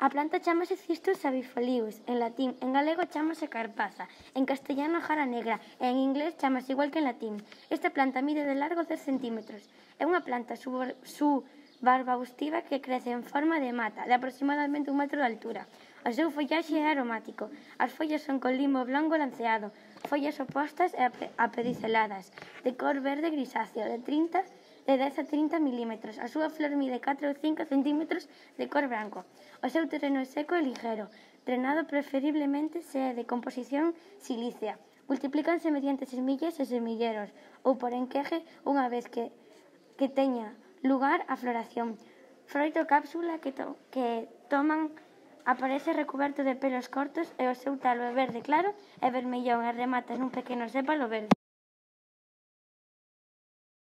A planta chámase Cistus sabifolius, en latín, en galego chámase carpaza, en castellano jara negra e en inglés chámase igual que en latín. Esta planta mide de largo 10 centímetros. É unha planta subarbustiva que crece en forma de mata, de aproximadamente 1 metro de altura. O seu follaxe é aromático. As follas son con limo blanco lanceado, follas opostas e apediceladas, de cor verde grisáceo, de 10 a 30 milímetros. A súa flor mide 4 ou 5 centímetros de cor branco. O seu terreno é seco e ligero, drenado preferiblemente se é de composición silícea. Multiplícanse mediante semillas e semilleros ou por enqueje unha vez que teña lugar a floración. Froito cápsula que toman aparece recuberto de pelos cortos e o seu talo é verde claro e vermellón e remata nun pequeno sépalo verde.